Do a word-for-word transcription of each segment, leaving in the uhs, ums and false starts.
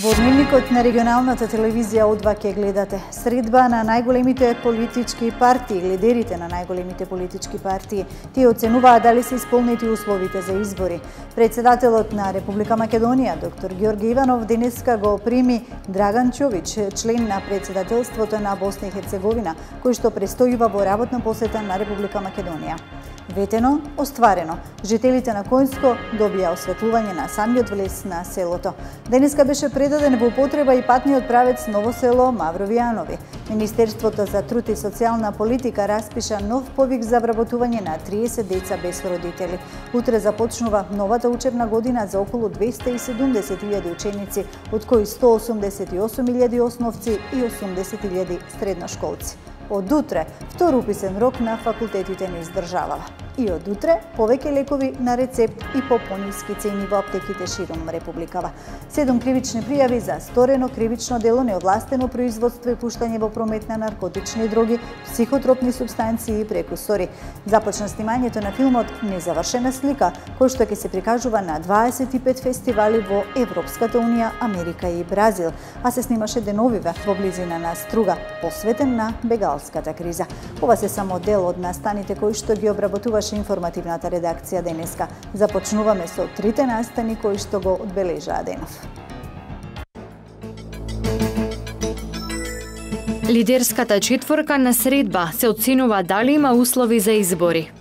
Во дневникот на регионалната телевизија О два ќе гледате средба на најголемите политички партии, лидерите на најголемите политички партии. Тие оценуваат дали се исполнети условите за избори. Председателот на Република Македонија, доктор Ѓорѓе Иванов, денеска го прими Драган Ќович, член на председателството на Босна и Херцеговина, кој што престојува во работна посета на Република Македонија. Ветено, остварено. Жителите на Коњско добија осветлување на самиот влез на селото. Денеска беше предаден во употреба и патниот правец Ново село Маврови Јанови. Министерството за труд и социјална политика распиша нов повик за вработување на триесет деца без родители. Утре започнува новата учебна година за околу двесте и седумдесет илјади ученици, од кои сто осумдесет и осум илјади основци и осумдесет илјади средношколци. Од утре, втор уписен рок на факултетите не издржавава. И од утре, повеќе лекови на рецепт и по пониски цени во аптеките широм Републикава. Седум кривични пријави за сторено кривично дело, неовластено производство и пуштање во промет на наркотични дроги, психотропни супстанции и прекусори. Започна снимањето на филмот Незавршена слика, кој што ќе се прикажува на дваесет и пет фестивали во Европската унија, Америка и Бразил, а се снимаше деновиве во близина на Струга, посветен на бегалската криза. Ова се само дел од настаните кои што ги обработува информативната редакција денеска. Започнуваме со трите настани кои што го одбележаа денов. Лидерската четворка на средба се оценува дали има услови за избори.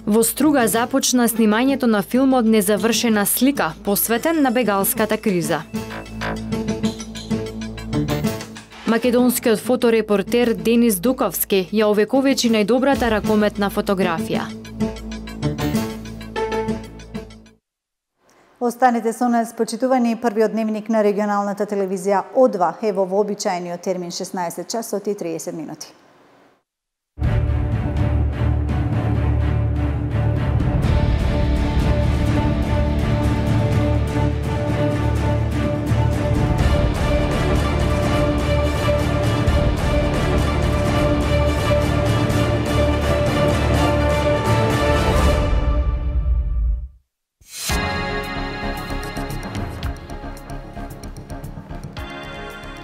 Во Струга започна снимањето на филмот Незавршена слика, посветен на бегалската криза. Македонскиот фоторепортер Денис Дуковски ја овековечи најдобрата ракометна фотографија. Останете со нас, почитувани. Првиот дневник на регионалната телевизија О два е во вообичаениот термин шеснаесет часот и триесет минути.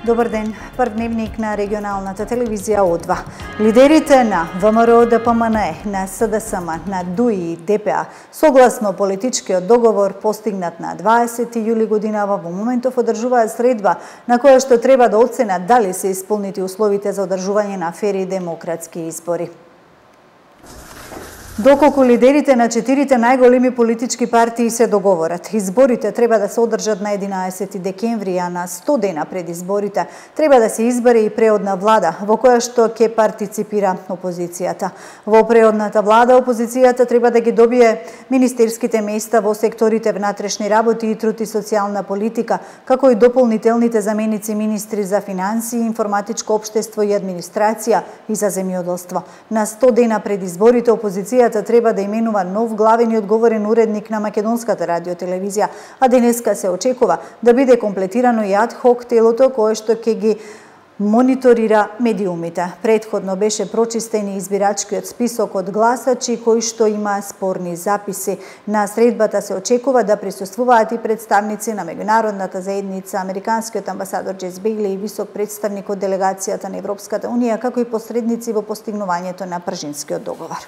Добар ден, прв дневник на регионалната телевизија О два. Лидерите на ВМРО Д П М Н Е, на С Д С М, на Д У И и Д П А, согласно политичкиот договор постигнат на дваесети јули годинава, во моментов одржуваат средба на која што треба да оценат дали се исполнети условите за одржување на фери и демократски избори. Доколку лидерите на четирите најголеми политички партии се договорат, изборите треба да се одржат на единаесети декември, а на сто дена пред изборите треба да се избере и преодна влада, во која што ќе партиципира опозицијата. Во преодната влада опозицијата треба да ги добие министерските места во секторите внатрешни работи и труд и социјална политика, како и дополнителните заменици министри за финансии, информатичко општество и администрација и за земјоделство. На сто дена пред изборите опозицијата треба да именува нов главен и одговорен уредник на Македонската радиотелевизија, а денеска се очекува да биде комплетирано и ад хок телото кое што ќе ги мониторира медиумите. Предходно беше прочистен и избирачкиот список од гласачи кои што има спорни записи. На средбата се очекува да присуствуваат и представници на меѓународната заедница, американскиот амбасадор Џес Бејли и висок представник од делегацијата на Европската унија, како и посредници во постигнувањето на Пржинскиот договор.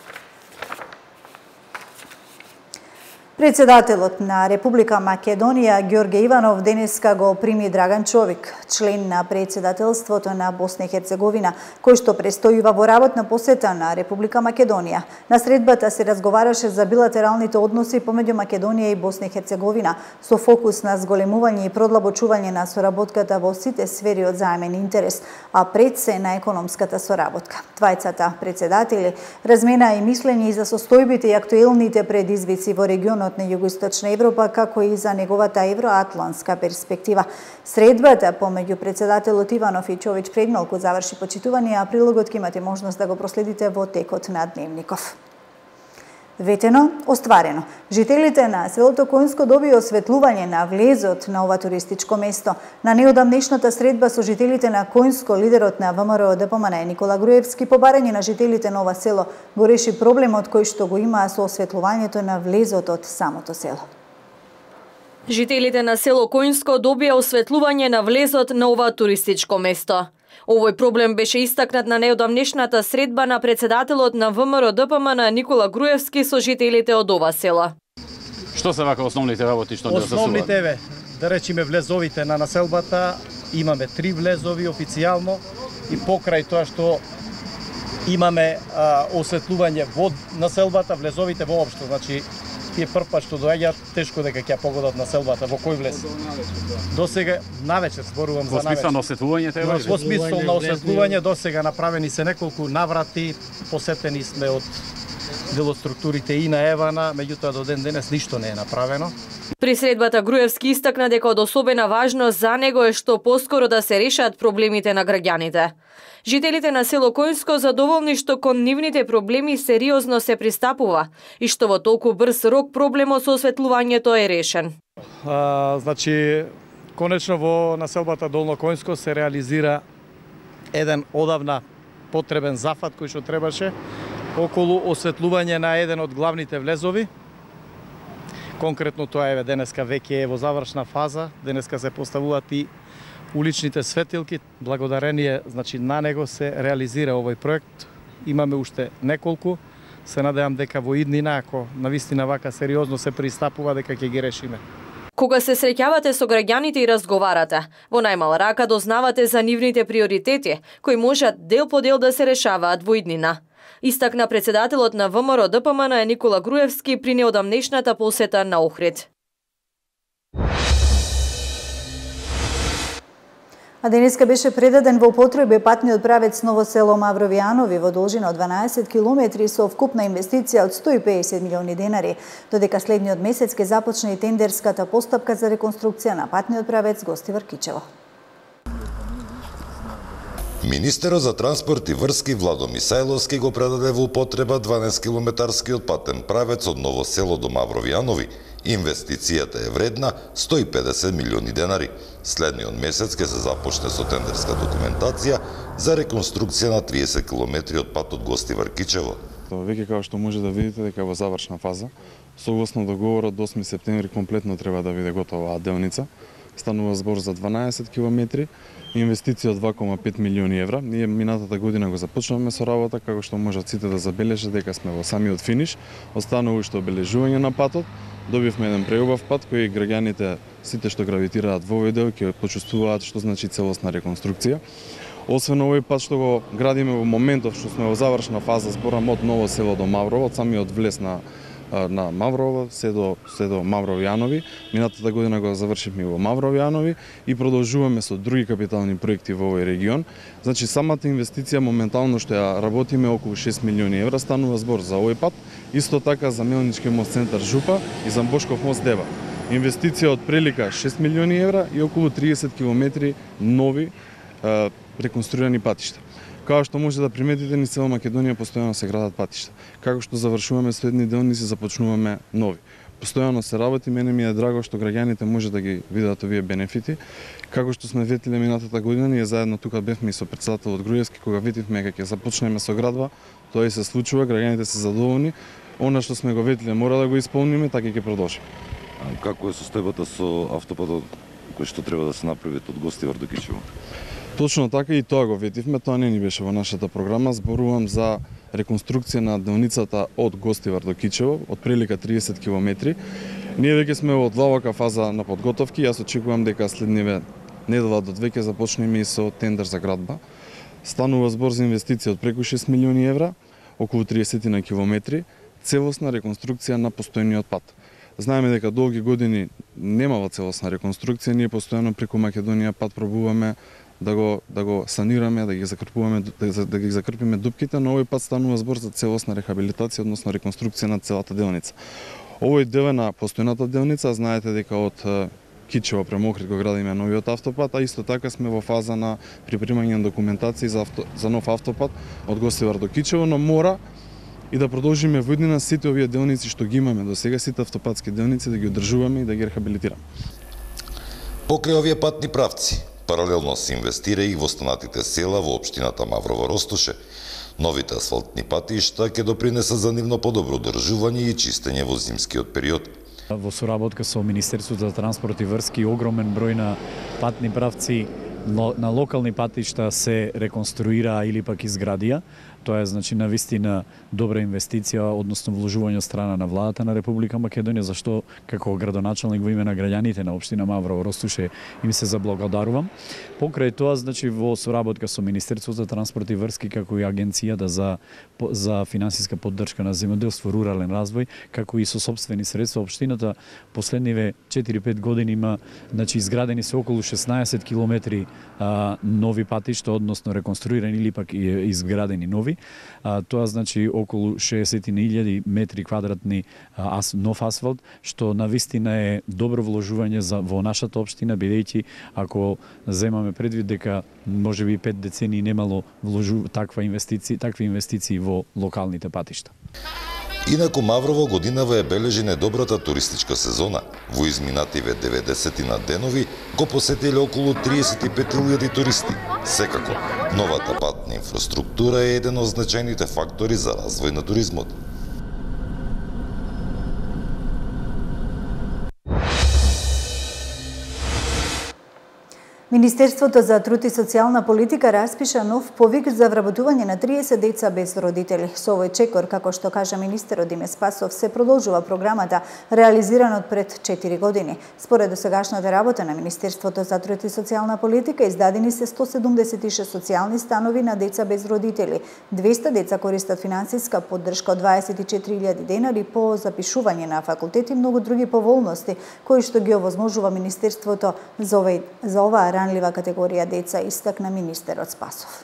Председателот на Република Македонија Ѓорѓе Иванов денеска го прими Драган Ќович, член на председателството на Босна и Херцеговина, кој што престојува во работна посета на Република Македонија. На средбата се разговараше за билатералните односи помеѓу Македонија и Босна и Херцеговина, со фокус на зголемување и продлабочување на соработката во сите сфери од заемен интерес, а пред се на економската соработка. Двајцата председатели разменаа и мислење и за состојбите и актуелните предизвици во регионот на Југоисточна Европа, како и за неговата евроатлантска перспектива. Средбата помеѓу председателот Иванов и Ќович предмалку заврши, почитувани, а прилогот ќе имате можност да го проследите во текот на дневников. Ветено, остварено. Жителите на селото Којнско добија осветлување на влезот на ова туристичко место. На неодамнешната средба со жителите на Којнско, лидерот на ВМРО Д П М Н Никола Груевски по барање на жителите на ова село го реши проблемот кој што го имаа со осветлувањето на влезот од самото село. Жителите на село Којнско добија осветлување на влезот на ова туристичко место. Овој проблем беше истакнат на неодамнешната средба на председателот на ВМРО Д П М Н Никола Груевски со жителите од ова села. Што се вака основните работи што не засуват? Основните ве, да речеме влезовите на населбата, имаме три влезови официјално и покрај тоа што имаме а, осветлување во населбата, влезовите воопшто, значи тие првпат што доаѓаат, тешко дека ќе погодат населбата, во кој влез. Досега навечер зборувам за навечер. Во смисла на осветлување треба? Во смисла на осветлување досега направени се неколку наврати, посетени сме од делоструктурите и на Евана, меѓутоа до ден денес ништо не е направено. При средбата Груевски истакна дека од особена важност за него е што поскоро да се решат проблемите на граѓаните. Жителите на село Којнско задоволни што кон нивните проблеми сериозно се пристапува и што во толку брз рок проблемот со осветлувањето е решен. А, значи, конечно во населбата Долно Којнско се реализира еден одавна потребен зафат кој што требаше околу осветлување на еден од главните влезови. Конкретно тоа е денеска веќе е во завршна фаза, денеска се поставуваат и уличните светилки, благодарение значи на него се реализира овој проект. Имаме уште неколку, се надевам дека во иднина, ако навистина вака сериозно се пристапува, дека ќе ги решиме. Кога се среќавате со граѓаните и разговарате, во најмала рака дознавате за нивните приоритети, кои можат дел по дел да се решаваат во иднина. Истакна председателот на ВМРО Д П М Н Никола Груевски при неодамнешната посета на Охрид. А денеска беше предаден во употреба патниот правец Ново село Маврови Јанови во должина од дванаесет километри со вкупна инвестиција од сто и педесет милиони денари, додека следниот месец ќе започне и тендерската постапка за реконструкција на патниот правец Гостивар Кичево. Министерот за транспорт и врски Владо Мисајловски го предаде во употреба дванаесет километарскиот патен правец од Ново село до Маврови Јанови. Инвестицијата е вредна сто и педесет милиони денари. Следниот месец ќе се започне со тендерска документација за реконструкција на триесет километри од патот Гостивар Кичево. Веќе како што може да видите дека во завршна фаза, согласно договорот до осми септември комплетно треба да биде готова оваа делница. Станува збор за дванаесет километри, инвестиција од два кома пет милиони евра. Ние минатата година го започнавме со работа, како што можат сите да забележат дека сме во самиот финиш. Останува уште обележување на патот. Добивме еден преубав пат кој граѓаните, сите што гравитираат во овој дел, ќе почувствуваат што значи целосна реконструкција. Освен овој пат што го градиме во моментов што сме во завршна фаза, зборам од Ново село до Маврово, од самиот влез на на Маврово, се до, се до Маврови Јанови. Минатата година го завршивме во Маврови Јанови и продолжуваме со други капитални проекти во овој регион. Значи, самата инвестиција моментално што ја работиме околу шест милиони евра, станува збор за овој пат, исто така за Мелнички мост центар Жупа и за Бошков мост Дева. Инвестиција од прилика шест милиони евра и околу триесет километри нови е, реконструирани патишта. Како што може да приметите, низ цела Македонија постојано се градат патишта. Како што завршуваме следни делници, започнуваме нови. Постојано се работи, мене ми е драго што граѓаните може да ги видат овие бенефити. Како што сме ветиле минатата година, ние заедно тука бевме и со председателот Груевски, кога ветивме дека ќе започнеме со градба, тоа и се случува, граѓаните се задоволни. Она што сме го ветиле мора да го исполниме, така ќе продолжиме. Како е состојбата со автопатот кој што треба да се направи од Гостивар до Кичево? Точно така и тоа го ветивме, тоа не ни беше во нашата програма. Зборувам за реконструкција на делницата од Гостивар до Кичево, од прилика триесет километри. Ние веќе сме во длабока фаза на подготовки. Јас очекувам дека следниве недела до две ќе започнеме и со тендер за градба. Станува збор за инвестиција од преку шест милиони евра, околу триесет на километри, целосна реконструкција на постојниот пат. Знаеме дека долги години немава целосна реконструкција, ние постојано преку Македонија пат пробуваме да го да го санираме, да ги закрпуваме, да, да ги закрпиме дупките, но овој пат станува збор за целосна рехабилитација, односно реконструкција на целата делница. Овој дел е на постојната делница, знаете дека од Кичево према Охрид го градиме новиот автопат, а исто така сме во фаза на припремање на документација за, авто, за нов автопат од Гостивар до Кичево, но мора и да продолжиме во иднина сите овие делници што ги имаме до сега, сите автопатски делници да ги одржуваме и да ги рехабилитираме. Покрај овие патни правци, паралелно се инвестира и во останатите села во општината Маврово Ростуше. Новите асфалтни патишта ќе допринесат за нивно подобро одржување и чистење во зимскиот период. Во соработка со Министерството за транспорт и врски, огромен број на патни правци на локални патишта се реконструираа или пак изградија. Тоа е, значи, навистина добра инвестиција, односно вложување од страна на владата на Република Македонија, зашто како градоначалник во име на граѓаните на општина Маврово Ростуше им се заблагодарувам. Покрај тоа, значи, во соработка со Министерството за транспорт и врски, како и Агенцијата за за финансиска поддршка на земјоделство, рурален развој, како и со сопствени средства, општината последниве четири-пет години има, значи, изградени се околу шеснаесет километри а, нови патишта, односно реконструирани или пак изградени нови. А, тоа значи околу шеесет илјади метри квадратни а, ас, нов асфалт, што навистина е добро вложување за во нашата општина, бидејќи ако земаме предвид дека можеби пет децении немало вложу таква инвестиција, такви инвестиции во локалните патишта. Инаку Маврово годинава е бележи недобрата туристичка сезона. Во изминативе деветдесетина денови го посетиле околу триесет и пет илјади туристи. Секако, новата патна инфраструктура е еден од значајните фактори за развој на туризмот. Министерството за труд и социјална политика распиша нов повик за вработување на триесет деца без родители. Со овој чекор, како што кажа министерот Диме Спасов, се продолжува програмата реализирана од пред четири години. Според досегашната работа на Министерството за труд и социјална политика, издадени се сто седумдесет и шест социјални станови на деца без родители. двесте деца користат финансиска поддршка од дваесет и четири илјади денари по запишување на факултети и многу други поволности, кои што ги овозможува Министерството за, овој, за оваа ранлива категорија деца, истакна министерот Спасов.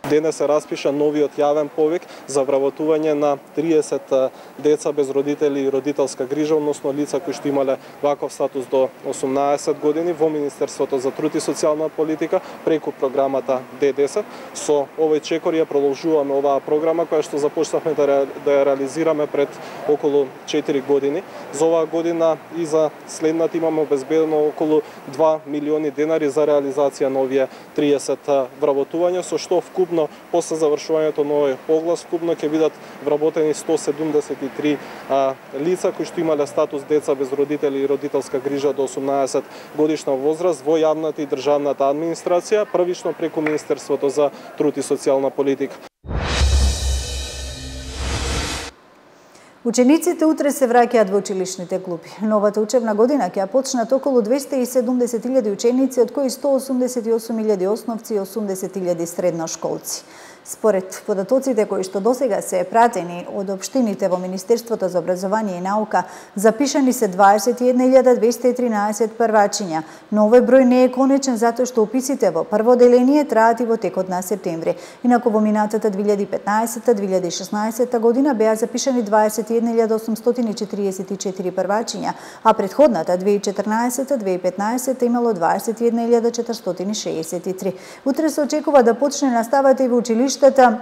Денес се распиша новиот јавен повик за вработување на триесет деца без родители и родителска грижа, односно лица кои што имале ваков статус до осумнаесет години во Министерството за труд и социјална политика преку програмата Д десет. Со овој чекор ја продолжуваме оваа програма која што започнавме да, ре, да ја реализираме пред околу четири години. За оваа година и за следната имаме обезбедено околу два милиони денари за реализација на овие триесет вработувања, со што вкупно после завршувањето на овој оглас вкупно ќе бидат вработени сто седумдесет и три а, лица кои што имале статус деца без родители и родителска грижа до осумнаесет годишна возраст во јавната и државната администрација, првично преку Министерството за труд и социјална политика. Учениците утре се враќаат во училишните клупи. Новата учебна година ќе почнат околу двесте и седумдесет илјади ученици, од кои сто осумдесет и осум илјади основци и осумдесет илјади средношколци. Според податоците кои што досега се пратени од општините во Министерството за образование и наука, запишани се дваесет и една илјада двесте и тринаесет првачиња, но овој број не е конечен затоа што уписите во прво деление траат и во текот на септември. Инаку во минатата две илјади и петнаесета - две илјади и шеснаесета година беа запишани дваесет и една илјада осумстотини и четириесет и четири првачиња, а претходната две илјади и четрнаесета - две илјади и петнаесета имало дваесет и една илјада четиристотини и шеесет и три. Утре се очекува да почне наставата и во училиштата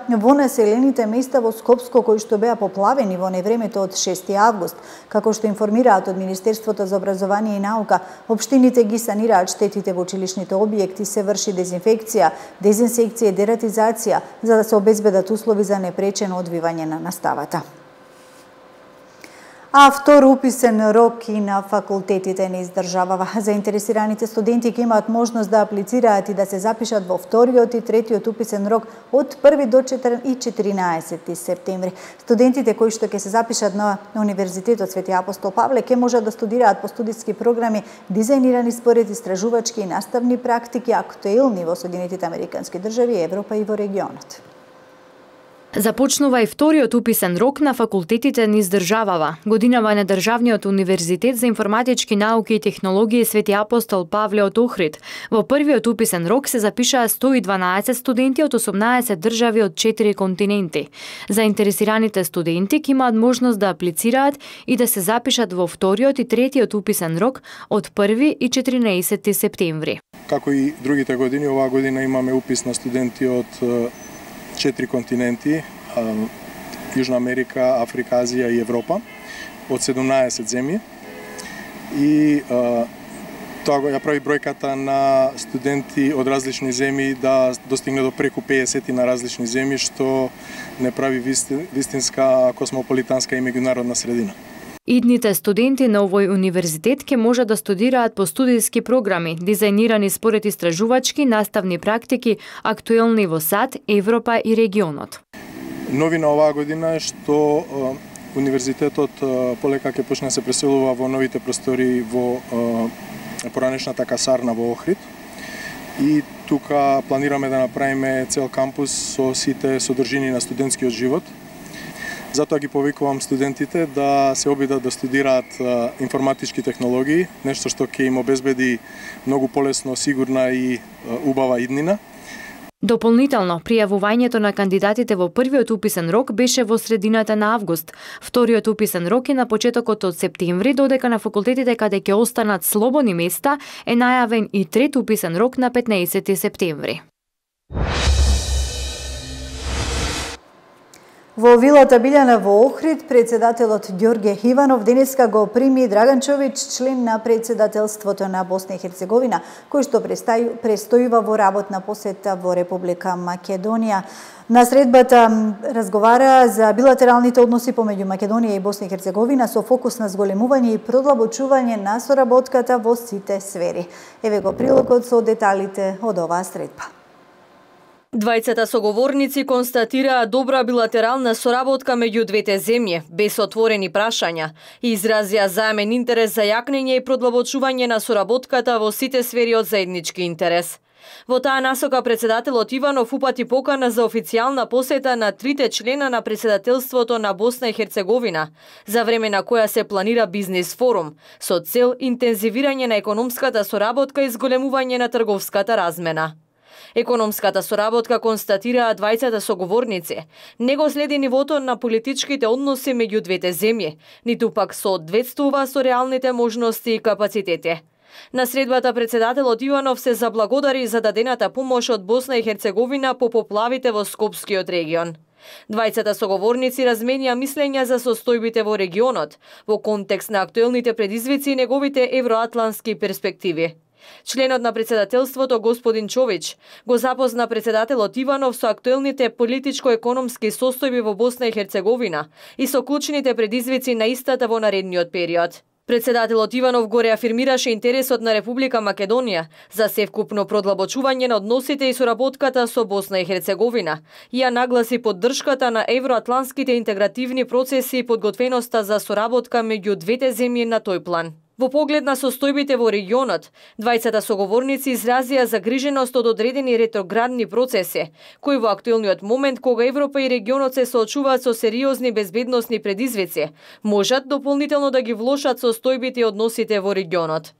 во населените места во Скопско, кои што беа поплавени во невремето од шести август. Како што информираат од Министерството за образование и наука, општините ги санираат штетите во училишните објекти, се врши дезинфекција, дезинсекција и дератизација, за да се обезбедат услови за непречено одвивање на наставата. А втор уписен рок и на факултетите не издржавава. Заинтересираните студенти ќе имаат можност да аплицираат и да се запишат во вториот и третиот уписен рок од први до четиринаесети септември. Студентите кои што ќе се запишат на Универзитетот Свети Апостол Павле ќе можат да студираат по студиски програми дизајнирани според истражувачки и наставни практики актуелни во Соединетите Американски држави, Европа и во регионот. Започнува и вториот уписен рок на факултетите низ државава. Годинава на Државниот универзитет за информатички науки и технологии Свети Апостол Павле од Охрид. Во првиот уписен рок се запишаа сто и дванаесет студенти од осумнаесет држави од четири континенти. Заинтересираните студенти ќе имаат можност да аплицираат и да се запишат во вториот и третиот уписен рок од први и четиринаесети септември. Како и другите години, оваа година имаме упис на студенти од четири континенти. Јужна Америка, Африка, Азија и Европа од седумнаесет земји. И а, тоа го ја прави бројката на студенти од различни земји да достигне до преку педесет на различни земји, што не прави вистинска космополитанска и меѓународна средина. Идните студенти на овој универзитет ќе може да студираат по студиски програми, дизајнирани според истражувачки наставни практики, актуелни во САД, Европа и регионот. Новина оваа година е што универзитетот полека ќе почне да се преселува во новите простори во поранешната касарна во Охрид. И тука планираме да направиме цел кампус со сите содржини на студентскиот живот. Затоа ги повикувам студентите да се обидат да студираат информатички технологии, нешто што ќе им обезбеди многу полесно, сигурна и убава иднина. Дополнително, пријавувањето на кандидатите во првиот уписен рок беше во средината на август. Вториот уписен рок е на почетокот од септември, додека на факултетите каде ќе останат слободни места е најавен и трет уписен рок на петнаесети септември. Во вилата Билјана во Охрид, председателот Ѓорѓе Иванов денеска го прими Драган Чович, член на председателството на Босна и Херцеговина, кој што престојува во работна посета во Република Македонија. На средбата разговара за билатералните односи помеѓу Македонија и Босна и Херцеговина со фокус на зголемување и продлабочување на соработката во сите сфери. Еве го прилогот со деталите од оваа средба. Двајцата соговорници констатираа добра билатерална соработка меѓу двете земји, без отворени прашања, и изразија заемен интерес за јакнење и продлабочување на соработката во сите сфери од заеднички интерес. Во таа насока председателот Иванов упати покана за официјална посета на трите члена на председателството на Босна и Херцеговина, за време на која се планира бизнис форум, со цел интензивирање на економската соработка и зголемување на трговската размена. Економската соработка, констатираа двајцата соговорници, не го следи нивото на политичките односи меѓу двете земји, ниту пак соодветствува со реалните можности и капацитети. На средбата председателот Иванов се заблагодари за дадената помош од Босна и Херцеговина по поплавите во Скопскиот регион. Двајцата соговорници разменија мислења за состојбите во регионот, во контекст на актуелните предизвици и неговите евроатлантски перспективи. Членот на председателството господин Чович го запозна председателот Иванов со актуелните политичко-економски состојби во Босна и Херцеговина и со клучните предизвици на истата во наредниот период. Председателот Иванов го реафирмираше интересот на Република Македонија за севкупно продлабочување на односите и соработката со Босна и Херцеговина и ја нагласи поддршката на евроатлантските интегративни процеси и подготвеноста за соработка меѓу двете земји на тој план. Во поглед на состојбите во регионот, двајцата соговорници изразија загриженост од одредени ретроградни процеси, кои во актуелниот момент, кога Европа и регионот се соочуваат со сериозни безбедносни предизвици, можат дополнително да ги влошат состојбите и односите во регионот.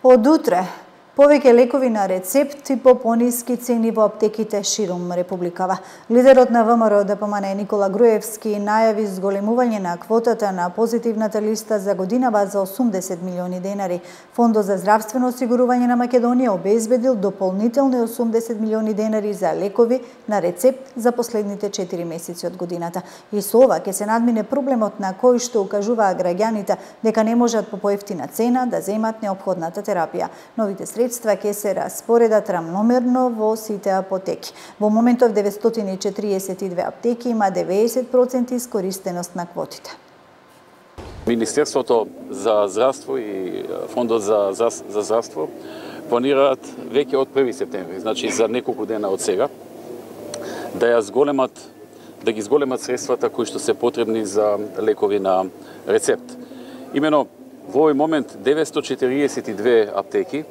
Од утре, повеќе лекови на рецепт и по пониски цени во аптеките ширум Републикава. Лидерот на ВМРО Д П М Н Никола Груевски најави зголемување на квотата на позитивната листа за годинава за осумдесет милиони денари. Фондот за здравствено осигурување на Македонија обезбедил дополнителни осумдесет милиони денари за лекови на рецепт за последните четири месеци од годината. И со ова ќе се надмине проблемот на кој што укажуваа граѓаните дека не можат по поевтина цена да земат неопходната терапија. Новите средства ќе се распоредат рамномерно во сите апотеки. Во моментов деветстотини и четириесет и две аптеки има деветдесет проценти искористеност на квотите. Министерството за здравство и Фондот за, за, за здравство планираат веќе од први септември, значи за неколку дена од сега, да ја зголемат, да ги зголемат средствата кои што се потребни за лекови на рецепт. Имено во овој момент деветстотини и четириесет и две аптеки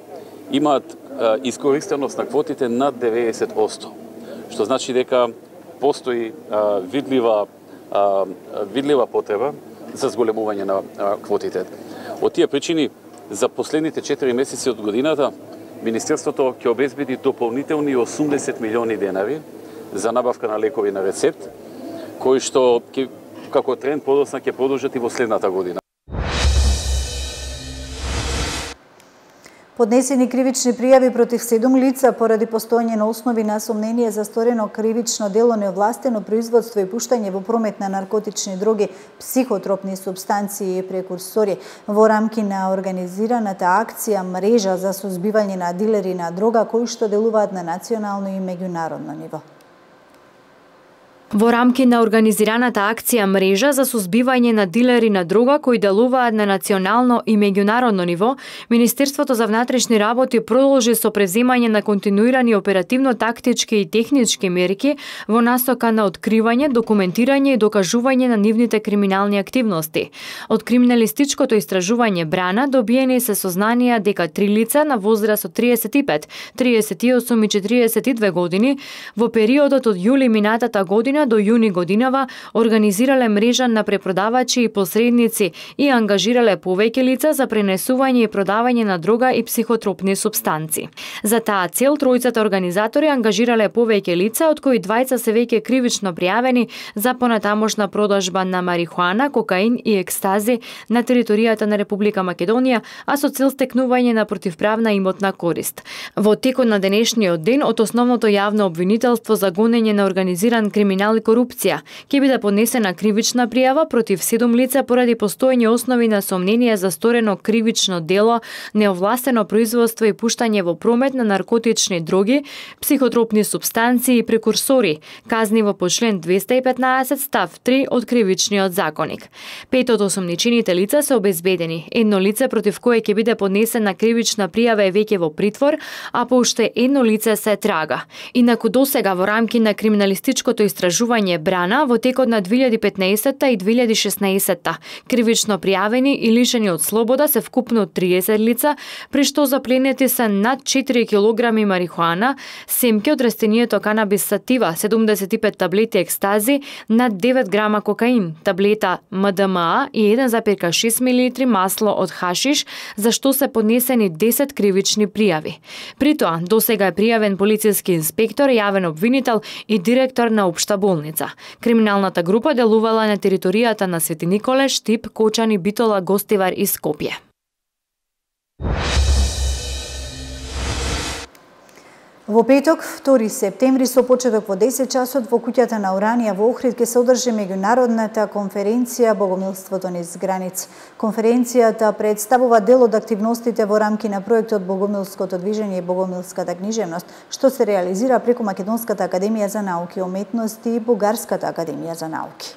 имаат а, искористеност на квотите над деветдесет одсто, што значи дека постои а, видлива а, видлива потреба за зголемување на а, квотите. Од тие причини, за последните четири месеци од годината, Министерството ќе обезбеди дополнителни осумдесет милиони денари за набавка на лекови на рецепт, кои што ќе, како тренд подосна ќе продолжат и во следната година. Поднесени кривични пријави против седум лица поради постоење на основи на сомнение за сторено кривично дело неовластено производство и пуштање во промет на наркотични дроги, психотропни супстанции и прекурсори. Во рамки на организираната акција Мрежа за сузбивање на дилери на дрога кои што делуваат на национално и меѓународно ниво. Во рамки на организираната акција Мрежа за сузбивање на дилери на дрога кои делуваат на национално и меѓународно ниво, Министерството за внатрешни работи продолжи со преземање на континуирани оперативно-тактички и технички мерки во насока на откривање, документирање и докажување на нивните криминални активности. Од криминалистичкото истражување Брана добиени се сознанија дека три лица на возраст од триесет и пет, триесет и осум и четириесет и две години во периодот од јули минатата година до јуни годинава организирале мрежа на препродавачи и посредници и ангажирале повеќе лица за пренесување и продавање на дрога и психотропни супстанци. За таа цел тројцата организатори ангажирале повеќе лица, од кои двајца се веќе кривично пријавени за понатамошна продажба на марихуана, кокаин и екстази на територијата на Република Македонија, а со цел стекнување на противправна имотна корист. Во текот на денешниот ден од основното јавно обвинителство за гонење на организиран криминал и корупција ќе биде поднесена кривична пријава против седум лица поради постоење основи на сомнение за сторено кривично дело, неовластено производство и пуштање во промет на наркотични дроги, психотропни супстанции и прекурсори, казниво по член двеста и петнаесет став три од Кривичниот законник. Пет од осомничените лица се обезбедени. Едно лице против кое ќе биде поднесена кривична пријава е веќе во притвор, а по уште едно лице се трага. Инаку досега во рамки на криминалистичкото истражување Брана во текот на две илјади и петнаесетта и две илјади и шеснаесетта кривично пријавени и лишени од слобода се вкупно триесет лица, при што запленети се над четири килограми марихуана, семки од растенијето канабис сатива, седумдесет и пет таблети екстази, над девет грама кокаин, таблета М Д М А и еден запир шест милилитри масло од хашиш, за што се поднесени десет кривични пријави. При тоа, досега е пријавен полициски инспектор, јавен обвинител и директор на општа болница. Криминалната група делувала на територијата на Свети Николе, Штип, Кочани, Битола, Гостивар и Скопје. Во петок, втори септември, со почеток во десет часот во куќата на Уранија во Охрид ќе се одржи меѓународната конференција Богомилството низ граници. Конференцијата представува дел од активностите во рамки на проектот Богомилското движење и Богомилската книжевност, што се реализира преку Македонската академија за науки и уметности и Бугарската академија за науки.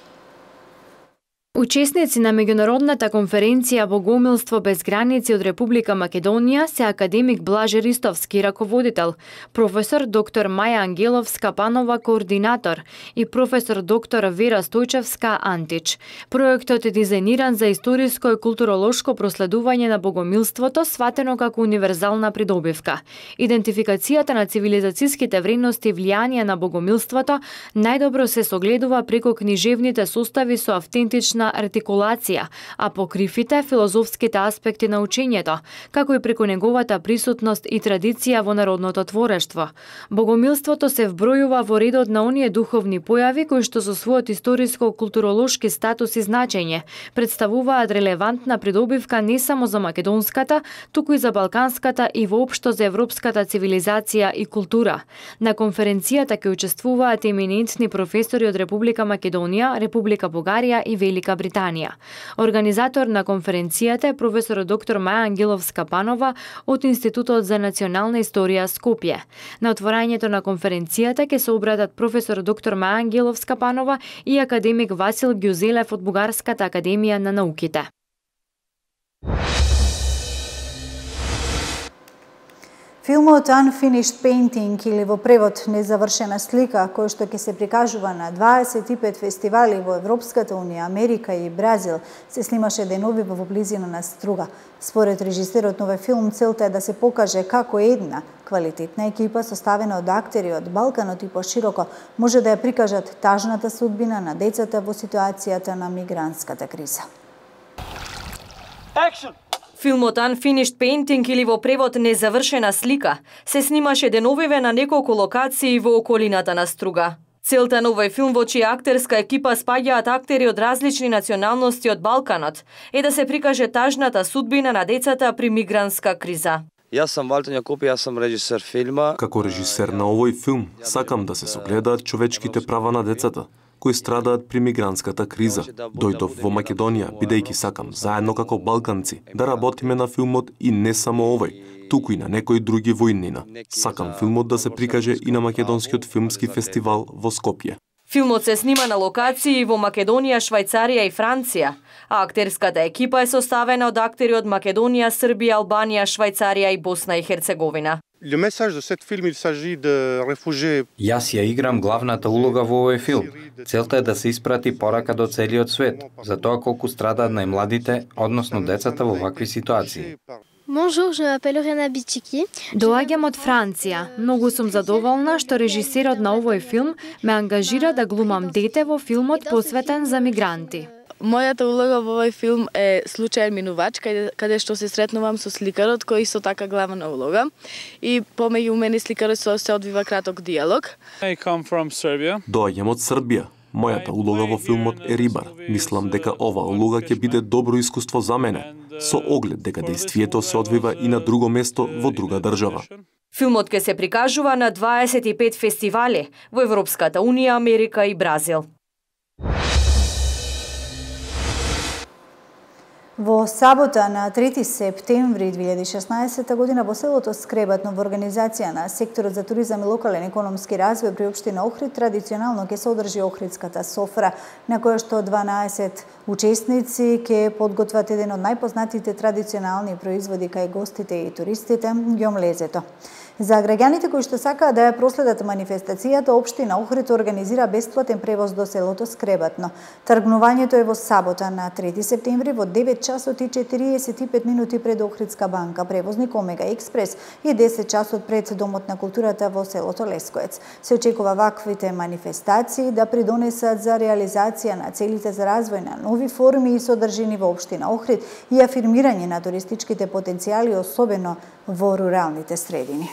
Учесници на меѓународната конференција Богомилство без граници од Република Македонија се академик Блаже Ристовски, раководител, професор доктор Маја Ангеловска-Панова, координатор, и професор доктор Вера Стојчевска, антич. Проектот е дизајниран за историско и културолошко проследување на богомилството, сватено како универзална придобивка. Идентификацијата на цивилизацијските вредности и влијанија на богомилството најдобро се согледува преку книжевните состави со автентична артикулација, а покривите филозофските аспекти на учењето, како и преку неговата присутност и традиција во народното творештво. Богомилството се вбројува во редот на оние духовни појави кои што со својот историско-културолошки статус и значење представуваат релевантна придобивка не само за македонската, туку и за балканската и воопшто за европската цивилизација и култура. На конференцијата ќе учествуваат еминентни професори од Република Македонија, Република Бугарија и Велика Британија. Организатор на конференцијата е професор доктор Маја Ангеловска-Панова од Институтот за национална историја Скопје. На отворањето на конференцијата ќе се обратат професор доктор Маја Ангеловска-Панова и академик Васил Ѓузелев од Бугарската академија на науките. Филмот Unfinished Painting или во превод Незавршена слика, кој што ќе се прикажува на дваесет и пет фестивали во Европската унија, Америка и Бразил, се снимаше деновива во близина на Струга. Според режисерот на овој филм, целта е да се покаже како една квалитетна екипа составена од актери од Балканот и пошироко може да ја прикажат тажната судбина на децата во ситуацијата на мигрантската криза. Action! Филмот Unfinished Painting или во превод Незавршена слика се снимаше деновиве на неколку локации во околината на Струга. Целта на овој филм, во чија актерска екипа спаѓаат актери од различни националности од Балканот, е да се прикаже тажната судбина на децата при мигрантска криза. Јас сум Валтер Јакопи, јас сум режисер филма. Како режисер на овој филм, сакам да се согледаат човечките права на децата, кои страдаат при мигрантската криза. Дојдов во Македонија, бидејќи сакам, заедно како балканци, да работиме на филмот и не само овој, туку и на некои други во иднина. Сакам филмот да се прикаже и на Македонскиот филмски фестивал во Скопје. Филмот се снима на локации во Македонија, Швајцарија и Франција, а актерската екипа е составена од актери од Македонија, Србија, Албанија, Швајцарија и Босна и Херцеговина. Јас ја играм главната улога во овој филм. Целта е да се испрати порака до целиот свет, за тоа колку страдаат најмладите, односно децата во вакви ситуации. Bonjour, je m'appelle Rena Bichiki. Доаѓам од Франција. Многу сум задоволна што режисерот на овој филм ме ангажира да глумам дете во филмот посветен за мигранти. Мојата улога во овој филм е случаен минувач, каде, каде што се сретнувам со сликарот кој исто така главна улога и помеѓу мене и сликарот се одвива краток диалог. I come from Serbia. Доаѓам од Србија. Мојата улога во филмот е рибар. Мислам дека оваа улога ќе биде добро искуство за мене, со оглед дека дејствието се одвива и на друго место во друга држава. Филмот ќе се прикажува на дваесет и пет фестивали во Европската унија, Америка и Бразил. Во сабота на трети септември две илјади и шеснаесетта година во селото Скребатно во организација на секторот за туризам и локален економски развој при општина Охрид традиционално ќе се одржи Охридската софра, на која што дванаесет учесници ќе подготват еден од најпознатите традиционални производи кај гостите и туристите, ѓомлезето. За граѓаните кои што сакаат да ја проследат манифестацијата, општина Охрид организира бесплатен превоз до селото Скребатно. Тргнувањето е во сабота на трети септември во девет часот и четириесет и пет минути пред Охридска банка, превозник Омега Експрес и десет часот пред Домот на културата во селото Лескоец. Се очекува ваквите манифестации да придонесат за реализација на целите за развој на нови форми и содржини во општина Охрид и афирмирање на туристичките потенцијали, особено во руралните средини.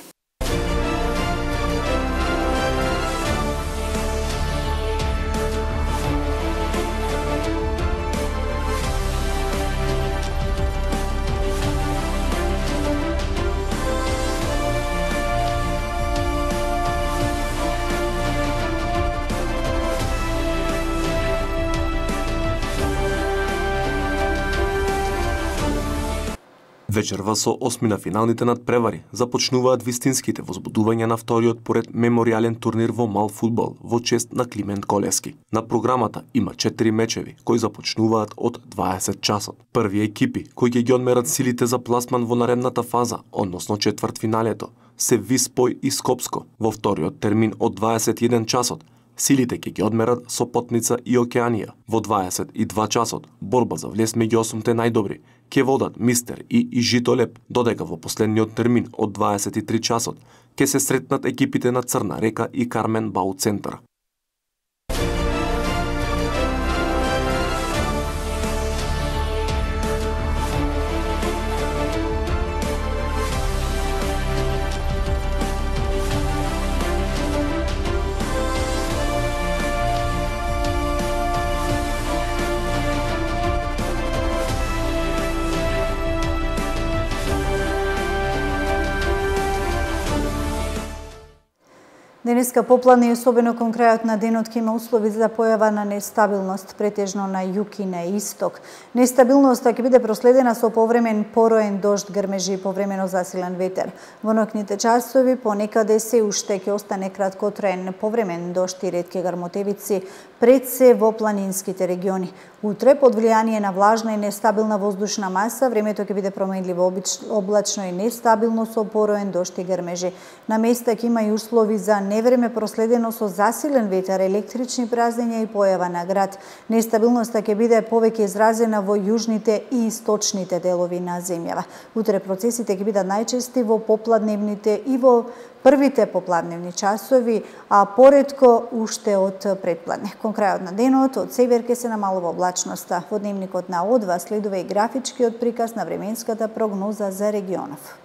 Вечерва со осмина финалните надпревари започнуваат вистинските возбудувања на вториот поред меморијален турнир во мал фудбал во чест на Климент Колески. На програмата има четири мечеви кои започнуваат од дваесет часот. Први екипи кои ќе ги одмерат силите за пласман во наредната фаза, односно четвртфиналето, се Виспој и Скопско. Во вториот термин од дваесет и еден часот силите ќе ги одмерат Сопотница и Океанија. Во дваесет и два часот борба за влез меѓу осумте најдобри ќе водат Мистер и и Житолеп, додека во последниот термин од дваесет и три часот ќе се сретнат екипите на Црна река и Кармен Бау Центар. Денеска поплавни и особено кон крајот на денот ќе има услови за појава на нестабилност, претежно на југ и на исток. Нестабилноста ќе биде проследена со повремен пороен дожд, грмежи и повремено засилен ветер. Во ноќните часови понекаде се уште ќе остане краткотраен повремен дожд и ретки грмотевици, пред се во планинските региони. Утре, под влијание на влажна и нестабилна воздушна маса, времето ќе биде променливо облачно и нестабилно со пороен дожд и грмежи. На места ќе има и услови за невреме проследено со засилен ветер, електрични празнења и појава на град. Нестабилноста ќе биде повеќе изразена во јужните и источните делови на земјава. Утре процесите ќе бидат најчести во попладневните и во првите попладневни часови, а поретко уште од предпладне. Кон крајот на денот од север ќе се намалува облачноста. Во дневникот на О два следува и графичкиот приказ на временската прогноза за регионов.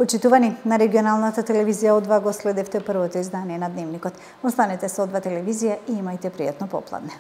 Почитувани, на регионалната телевизија О два го следевте првото издание на Дневникот. Останете со О два телевизија и имајте пријатно попладне.